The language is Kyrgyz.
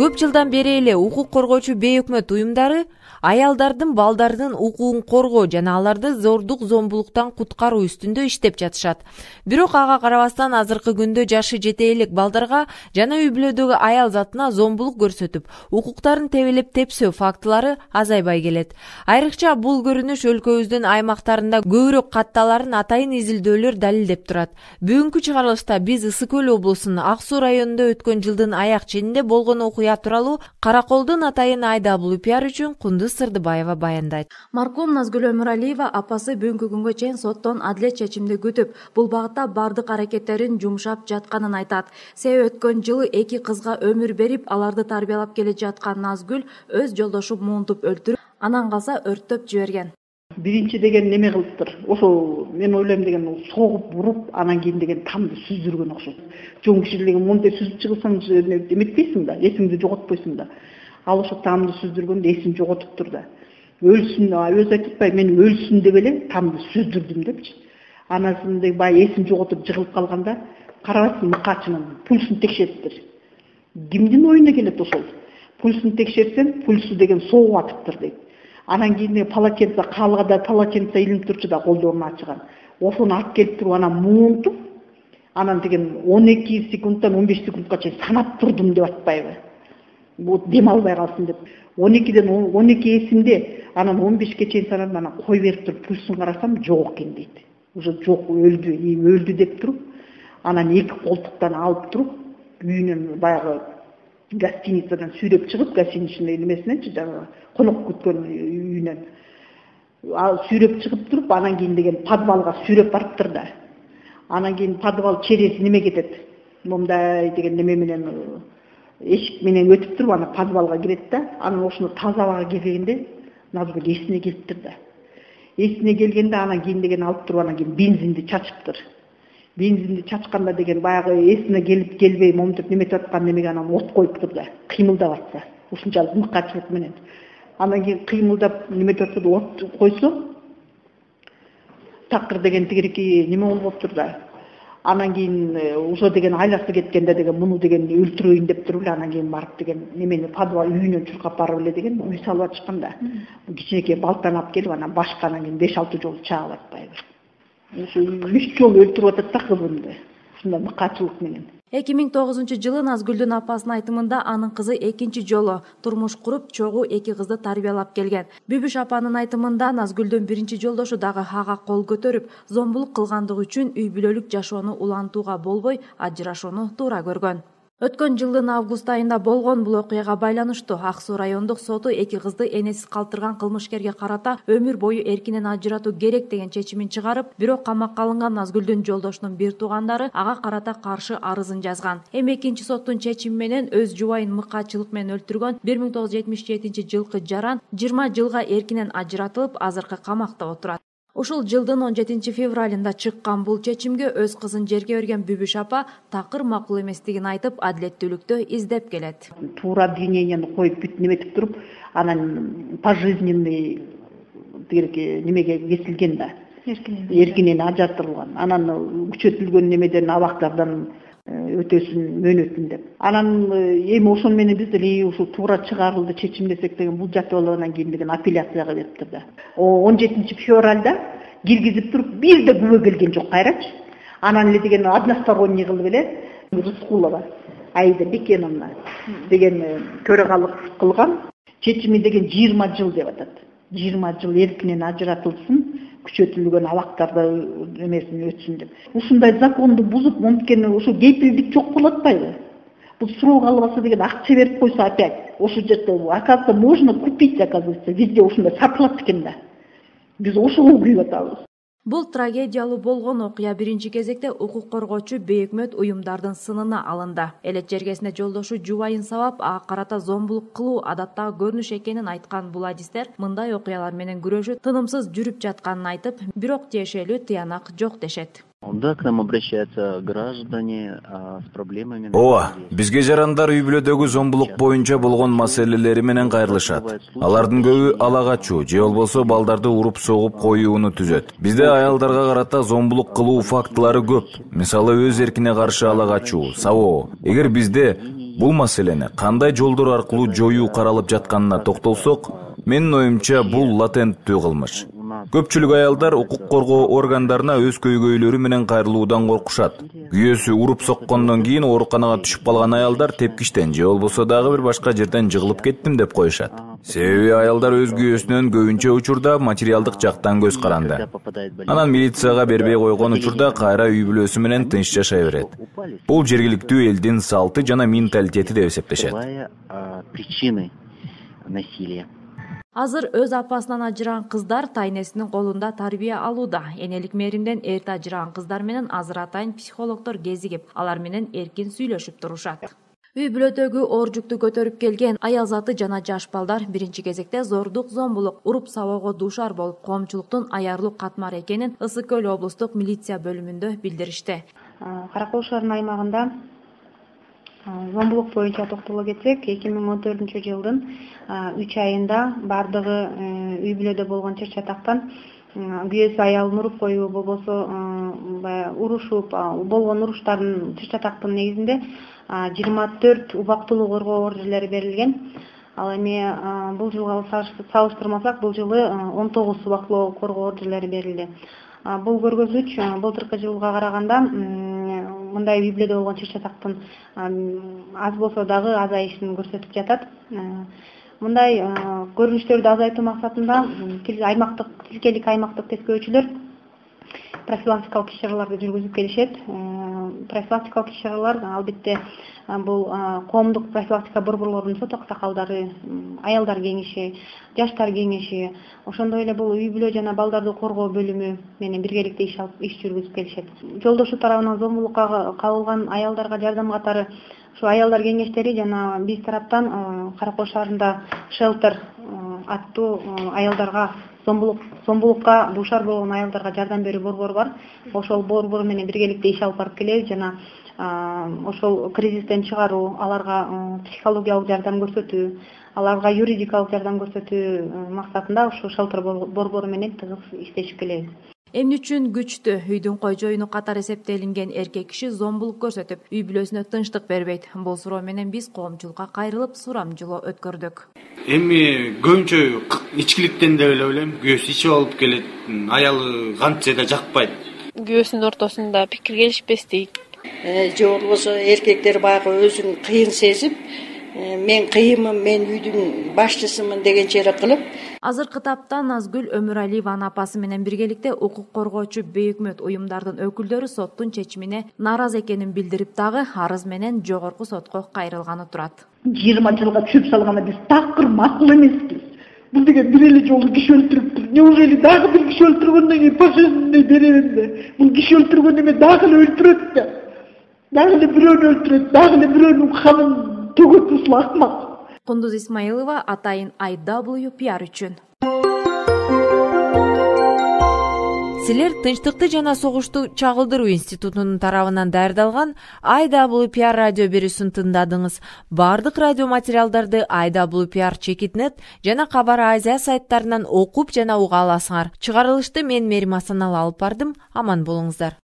Көп жылдан бери эле укук коргоочу бейөкмөт уюмдары аялдардын, балдардын укугун коргоо жана аларды зордук зомбулуктан куткаруу үстүндө иштеп жатышат. Бирок ага карабастан азыркы күндө жашы жете элек балдарга жана үй бүлөдөгү аял затына зомбулук көрсөтүп, укуктарын тебелеп тепсөө фактылары азайбай келет. Айрыкча бул көрүнүш өлкөбүздүн аймактарында көбүрөөк катталарын атайын изилдөөлөр далилдеп турат. Бүгүнкү чыгарылышта биз Ысык Көл облусунун Ак Суу районунда өткөн жылдын аяк ченинде болгон окуя тууралуу Караколдун атайын Айдабул Пиар үчүн Кундуз Сырдыбаева баяндайт. Маркум Назгүл Өмүралиева апасы бүгүнкү күнгө чейин соттон адилет чечимди күтүп, бул багытта бардык аракеттерин жумшап жатканын айтат. Себеби өткөн жылы 2 кызга өмүр берип, аларды тарбиялап келе жаткан Назгүл өз жолдошун муунтуп өлтүрүп, анан калса өрттөп жиберген. Биринчи деген неме кылыптыр. Ошо мен ойлойм деген согуп уруп, анан кийин деген тамды сүздүргөн окшойт. Чоң киши деген мондай сүзүп чыгылсаң эметпейсиң да, эсиңди жоготпойсуң да. Ал ошо тамды сүздүргөндө эсин жоготуптур да. Өлсүн, өзү айтып атпайбы, мен өлсүн деп эле тамды сүздүрдүм депчи. Анасындай бай эсин жоготуп жыгылып калганда, карабайсың мыкаачынын пульсун текшериптир. Кимдин оюна келет ошол? Пульсун текшерсем, пульсу деген согуп атыптыр дейт. Анан кийин полотенце, калгада полотенце илинип турчу да колдорун ачыган. Ошону алып келип туруп анан муунтуп, анан деген 12 секундтан 15 секундка чейин санап турдум деп атпайбы. Вот дем албай калсын деп. 12ден 12 эсимде, анан 15ке чейин санадым, анан кой берип туруп пульсун карасам жок экен дейт. Уже жок, өлдү деп туруп, анан 2 колтуктан алып туруп, үйүнөн баягы гостиницадан сүйрөп чыгып, гостиничный немесиненчи, жанагы конок күткөн үйүнөн. Сүйрөп чыгып туруп, анан кийин деген подвалга сүйрөп барыптыр да. Анан кийин подвал через неме кетет. Момдай деген неме менен эшик менен өтүп туруп, анан подвалга кирет да. Анан ошону тазалага келгенде Назгүл эсине келиптир да. Эсине келгенде анан кийин деген алып туруп, анан кийин бензинди чачыптыр. Бензинди чачканда деген баягы эсине келип келбей моментип неметип аткан немеге анан от коюптур да. Кыймылдап атса, ушунчалык мыкаачылык менен. Анан кийин кыймылдап неметип атса от койсо, такыр деген тигирки неме болуп болуптур да. Анан кийин ошо деген айласы кеткенде деген муну деген өлтүрөйүн деп туруп эле анан кийин барып деген немени подвал үйүнөн чуркап барып эле деген үй салып атышкан да. Кичинекей балтаны алып келип анан башка анан кийин 5-6 жолу чаап атпайбы. Ошо 3 жолу өлтүрүп атат да кызын. Ушундай мыкаачылык менен. 2009-жылы Назгүлдүн апасынын айтымында анын кызы экинчи жолу турмуш куруп, чогуу 2 кызды тарбиялап келген. Бүбүш апанын айтымында Назгүлдүн биринчи жолдошу дагы ага кол көтөрүп, зомбулук кылгандыгы үчүн үй бүлөлүк жашоону улантууга болбой, ажырашууну туура көргөн. Өткөн жылдын август айында болгон бул окуяга байланыштуу Ак Суу райондук соту 2 кызды энесиз калтырган кылмышкерге карата өмүр бою эркинен ажыратуу керек деген чечимин чыгарып, бирок камакка алынган Назгүлдүн жолдошунун бир туугандары ага карата каршы арызын жазган. Эми экинчи соттун чечими менен өз жубайын мыкаачылык менен өлтүргөн 1977-жылкы жаран 20 жылга эркинен ажыратылып, азыркы камакта отурат. Ушул жылдын 17-февралында чыккан бул чечимге өз кызын жерге берген Бүбүш апа такыр макул эместигин айтып, адилеттүүлүктү издеп келет. Туура обвиненияны коюп бүт неметип туруп, анан пожизненный немеге кесилген да. Эркинен ажыртылган. Анан күчөтүлгөн немеден абактардан өтөсүн мөөнөтүн деп. Анан эми ошон менен биз деле ушул туура чыгарылды чечимдесек деген бул жатып алгандан кийин деген апелляцияга бериптир да. 17-февралда киргизип туруп бир да күбө келген жок кайрачы. Анан эле деген односторонний кылып эле Рыскулова Аида Бекеновна деген төрагалык кылган. Чечими деген 20 жыл деп атат. 20 жыл эркинен ажыратылсын, күчөтүлгөн абактарда эмесин өтсүн деп. Ушундай законду бузуп, мумкин ошо кепилдик жок болуп атпайбы? Бул срок албаса деген акча берип койсо опять. Ошо жерде, оказывается, можно купить, оказывается, везде ушундай сатылат экен да. Биз ошого күйүп атабыз. Бул трагедиялуу болгон окуя биринчи кезекте укук коргоочу бейөкмөт уюмдардын сынына алынды. Элет жергесинде жолдошу жубайын сабап, ага карата зомбулук кылуу адаттагы көрүнүш экенин айткан бул адистер мындай окуялар менен күрөшүү тынымсыз жүрүп жатканын айтып, бирок тиешелүү тыянак жок дешет. Да, к нам обращаются граждане с проблемами. Ооба, бизге жарандар үй бүлөдөгү зомбулук боюнча болгон маселелери менен кайрылышат. Алардын көбү ала качуу же болбосо балдарды уруп согуп коюуну түзөт. Бизде аялдарга карата зомбулук кылуу фактылары көп. Мисалы, өз эркине каршы ала качуу, сабоо. Эгер бизде Бул маселени кандай жолдор аркылуу жоюу каралып жатканына токтолсок, менин оюмча бул латенттүү кылмыш. Көпчүлүк аялдар укук коргоо органдарына өз көйгөйлөрү менен кайрылуудан коркушат. Күйөөсү уруп соккондон кийин ооруканага түшүп калган аялдар тепкичтен же болбосо дагы бир башка жерден жыгылып кеттим деп коюшат. Себеби аялдар өз күйөөсүнөн көбүнчө учурда материалдык жактан көз каранды. Анан милицияга бербей койгон учурда кайра үй бүлөсү менен тынч жашай берет. Бул жергиликтүү элдин салты жана менталитети деп эсептешет. Причины насилия. Азыр өз апасынан ажыраган кыздар тайнесинин колунда тарбия алууда. Энелик мээримден эрте ажыраган кыздар менен азыр атайын психологдор кезигип, алар менен эркин сүйлөшүп турушат. Үй бүлөдөгү оор жүктү көтөрүп келген аял заты жана жаш балдар биринчи кезекте зордук, зомбулук, уруп сабоого дуушар болуп, коомчулуктун аярлуу катмары экенин Ысык Көл облустук милиция бөлүмүндө билдиришти. Кара Кол шаарынын аймагында зомбулук боюнча токтоло кетсек, 2014-жылдын 3 айында бардыгы үй бүлөдө болгон чыр-чатактан күйөөсү аялын уруп коюу, болбосо урушуп болгон уруштардын чыр-чатактын негизинде 24 убактылуу коргоо ордерлери берилген. Ал эми бул жылга салыштырмасак, бул жылы 19 убактылуу коргоо ордерлери берилди. Бул көргөзгүч былтыркы жылга караганда мындай үй бүлөдө болгон чыр-чатактын аз болсо дагы азайышын көрсөтүп жатат. Мындай көрүнүштөрдү азайтуу максатында тилкелик аймактык тескөөчүлөр профилактикалык иш-чараларды жүргүзүп келишет. Профилактикалык иш-чаралар албетте бул коомдук профилактика борборлорунун сот аксакалдары, аялдар кеңеши, жаштар кеңеши, ошондой эле бул үй бүлө жана балдарды коргоо бөлүмү менен биргеликте иш жүргүзүп келишет. Жолдошу тарабынан зомбулукка кабылган аялдарга жардам катары ушу аялдар кеңештери жана биз тараптан Кара Кол шаарында шелтер аттуу аялдарга зомбулукка дуушар болгон аялдарга жардам берүү борбору бар. Ошол борбор менен биргеликте иш алып барып келебиз жана ошол кризистен чыгаруу, аларга психологиялык жардам көрсөтүү, аларга юридикалык жардам көрсөтүү максатында ушу шелтер борбору менен тыгыз иштешип келебиз. Эмне үчүн күчтүү үйдүн койжоюну катары эсептелинген эркек киши зомбулук көрсөтүп, үй бүлөсүнө тынчтык бербейт? Бул суроо менен биз коомчулукка кайрылып сурамжылоо өткөрдүк. Эми көбүнчө ичкиликтен деп эле ойлойм. Күйөөсү ичип алып келет, аялы кантсе да жакпайт. Күйөөсүнүн ортосунда пикир келишпестик. Же болбосо эркектер баягы өзүн кыйын сезип, мен кыйынмын, мен үйдүн башчысымын дегенче эле кылып. Азыркы тапта Назгүл Өмүралиеванын апасы менен биргеликте укук коргоочу бейөкмөт уюмдардын өкүлдөрү соттун чечимине нааразы экенин билдирип дагы арыз менен жогорку сотко кайрылганы турат. 20 жылга чөп салганда биз такыр макул эмеспиз. Бул деген бир эле жолу киши өлтүрүптүр. Неужели дагы бир киши өлтүргөндөн кийин пожизненный беребиз да? Бул киши өлтүргөн эме дагы эле өлтүрөт да. Дагы эле бирөөнү өлтүрөт, дагы эле бирөөнүн канын төгөт, ушул акмак. Кундуз Исмаилова, Атайын IWPR үчүн. Силер Тынчтыкты жана согушту чагылдыруу институтунун тарабынан даярдалган IWPR радио берүүсүн тыңдадыңыз. Бардык радио материалдарды IWPR.net жана Кабар Азия сайттарынан окуп жана уга аласыңар. Чыгарылышты мен Мерим Асаналы алып бардым. Аман болуңуздар.